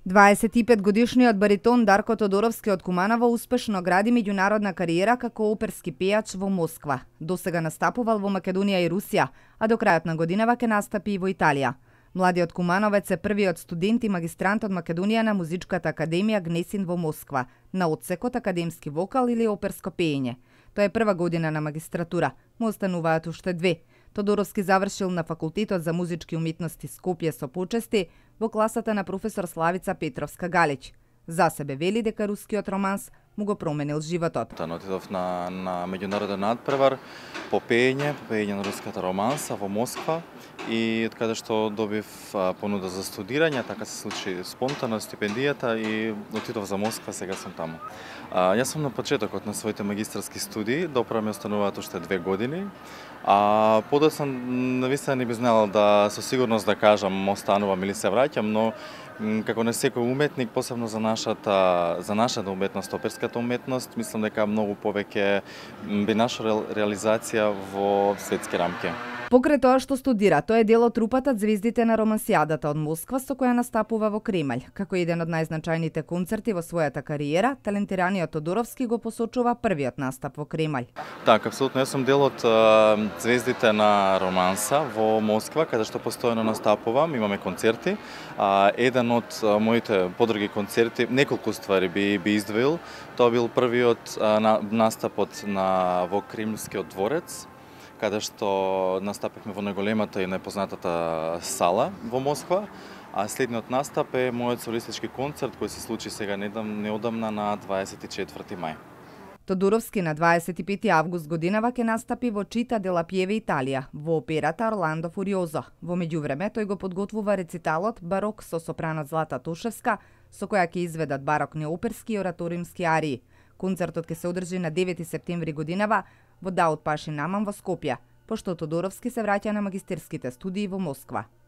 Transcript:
25-годишниот баритон Дарко Тодоровски од Куманово успешно гради меѓународна кариера како оперски пејач во Москва. Досега настапувал во Македонија и Русија, а до крајот на годинава ќе настапи и во Италија. Младиот кумановец е првиот студент и магистрант од Македонија на Музичката академија Гнесин во Москва, на одсекот академски вокал или оперско пеење. Тоа е прва година на магистратура, му остануваат уште две. Тодоровски завршил на Факултетот за музички уметности Скопје со почести во класата на професор Славица Петровска-Галич. За себе вели дека рускиот романс му го променил животот. Отидов на меѓународен надпревар по пеење на руската романса во Москва и од каде што добив понуда за студирање, така се случи спонтано стипендијата и отидов за Москва, сега сум таму. Јас сум на почетокот на своите магистарски студии, допра ми остануваат уште 2 години. Подоцна навистина не би знал да со сигурност да кажам останувам или се враќам, но како не секој уметник, посебно за нашата уметност, оперската уметност, мислам дека многу повеќе би нашла реализација во светски рамки. Покрај тоа што студира, тој е дел од трупата Звездите на романсијадата од Москва, со која настапува во Кремљ. Како еден од најзначајните концерти во својата кариера, талентираниот Тодоровски го посочува првиот настап во Кремљ. Така, апсолутно, јас сум дел од Звездите на романса во Москва, каде што постојано настапувам, имаме концерти. Еден од моите подруги концерти, неколку ствари би издвоил, тоа бил првиот настапот во Кремљскиот дворец, каде што настапивме во најголемата и најпознатата сала во Москва, а следниот настап е мојот солистички концерт кој се случи сега неодамна на 24 мај. Тодоровски на 25 август годинава ќе настапи во Чита де ла Пиеве, Италија, во операта Орландо Фуриозо. Во меѓувреме тој го подготвува рециталот Барок со сопранот Злата Тошевска, со која ќе изведат барокни оперски и ораториумски арии. Концертот ќе се одржи на 9 септември годинава во Даут Пашин Наман во Скопје, пошто Тодоровски се враќа на магистерските студии во Москва.